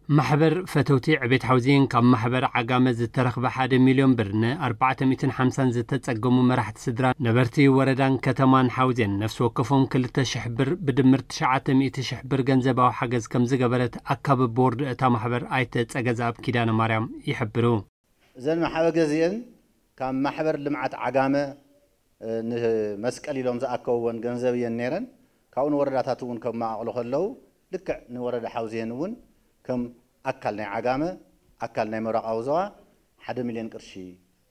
ማሕበር ፈተውቲ ዕቤት ሓውዜን ካብ ማሕበር ዓጋመ ዝተረኽበ ሓደ ሚልዮን ብር ን ኣርባዕተ ሚእትን ሓምሳን ዝተጸገሙ መራሕቲ ስድራ ነበርቲ ወረዳን ከተማን ሓውዜን ነፍሲ ወከፎም ክልተ ሽሕ ብር ብድምር ትሽዓተ ሚእቲ ሽሕ ብር ገንዘባዊ ሓገዝ ከም ዝገበረት ኣካቢ ቦርድ እታ ማሕበር ኣይተ ጸገዛኣብ ኪዳነ ማርያም ይሕብሩ። እዘን መሓበገዚአን ካብ ማሕበር ልምዓት ዓጋመ ንመስቀል ኢሎም ዝኣከብዎን ገንዘብ እየን ነይረን። ካብኡ ንወረዳታት እውን ከመቓቕሉ ከለዉ ልክዕ ንወረዳ ሓውዜን እውን ከም ኣካል ናይ ዓጋመ ኣካል ናይ ምብራቓዊ ዞባ ሓደ ሚልዮን ቅርሺ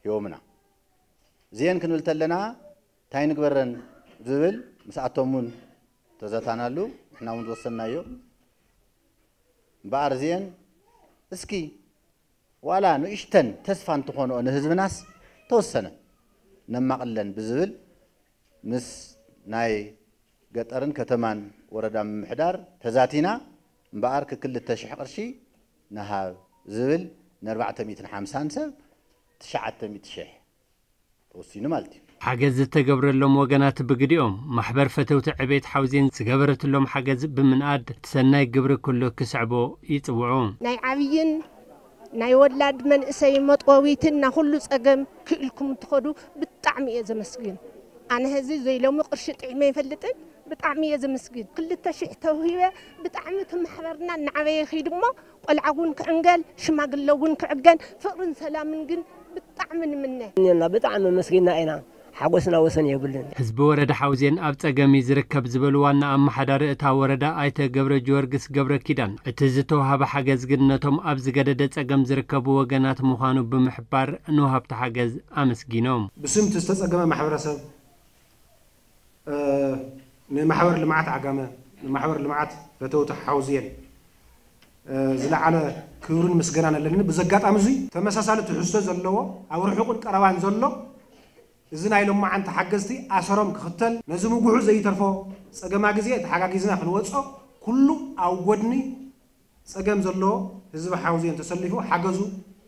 ሂቦምና። እዚአን ክንብል ተለና እንታይ ንግበረን ዝብል ምስኣቶም እውን ተዘታናሉ፣ ንሕና እውን ዝወሰናዮ። እምበኣር እዚአን እስኪ ዋላ ንእሽተን ተስፋ እንትኾንኦ ንህዝብናስ ተወሰነ ነማቕለን ብዝብል ምስ ናይ ገጠርን ከተማን ወረዳ ምምሕዳር ተዛቲና እምበኣር ክክልተ ሽሕ ቅርሺ ንሃብ ዝብል ንኣርባዕተ ሚእትን ሓምሳን ሰብ ትሽዓተ ሚእቲ ሽሕ ተወሲኑ ማለት እዩ። ሓገዝ ዝተገብረሎም ወገናት ብግዲኦም ማሕበር ፈተውቲ ዕቤት ሓውዜን ዝገበረትሎም ሓገዝ ብምንኣድ እቲ ሰናይ ግብሪ ኩሉ ክስዕቦ ይጽውዑ። ናይ ዓብይን ናይ ወላድ መንእሰይ መጥወዊትን ና ኩሉ ጸገም ክእልኩም ትኸዱ ብጣዕሚ እየ ዘመስግን። ኣነ ህዚ ዘይሎሚ ቅርሺ ጥዒመ ይፈልጥን ብጣዕሚ እየ ዘመስግን። ክልተ ሽሕ ተውሂበ ብጣዕሚ እቲ ማሕበርና እናዓበየ ይኸይድ እሞ ቆልዓ እውን ክዕንገል ሽማግለ እውን ክዕገን ፍቕርን ሰላምን ግን ብጣዕሚ ንምነ። እኛና ብጣዕሚ ኣመስጊና ኢና። ሓጎስና ወሰን የብሉን። ህዝቢ ወረዳ ሓውዜን ኣብ ጸገም እዩ ዝርከብ ዝበሉ ዋና ኣመሓዳሪ እታ ወረዳ ኣይተ ገብረ ጊዮርጊስ ገብረ ኪዳን፣ እቲ ዝተውሃበ ሓገዝ ግን ነቶም ኣብ ዝገደደ ጸገም ዝርከቡ ወገናት ምዃኑ ብምሕባር ንወሃብቲ ሓገዝ ኣመስጊኖም። ብስም እቲ ዝተጸገመ ማሕበረሰብ፣ እ፣ ንማሕበር ልምዓት ዓጋመ፣ ንማሕበር ልምዓት ፈተውቲ ሓውዜን፣ እ፣ ዝለዓለ ክብርን ምስጋናን ኣለኒ። ብዚ ኣጋጣሚ እዚ ተመሳሳሊ ትሕዝቶ ዘለዎ ኣብ ርሑቕን ቀረባን ዘሎ እዚ ናይ ሎማዓንቲ ሓገዝቲ ኣሰሮም ክኽተል፣ ነዚ ምጉሑ ዘይተርፎ ጸገማ ግዜ ተሓጋጊዝና ክንወጾ፣ ኩሉ ኣብ ጎድኒ ጸገም ዘሎ ህዝቢ ሓውዜን ተሰሊፉ ሓገዙ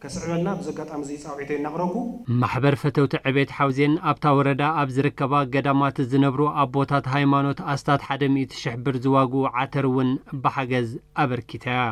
ከስዕበልና ብዚ ኣጋጣሚ እዚ ጻውዒተይ እናቕረብኩ። ማሕበር ፈተውቲ ዕቤት ሓውዜን ኣብታ ወረዳ ኣብ ዝርከባ ገዳማት ዝነብሩ ኣቦታት ሃይማኖት ኣስታት ሓደ ሚእቲ ሽሕ ብር ዝዋግኡ ዓተር እውን ብሓገዝ ኣበርኪታ እያ።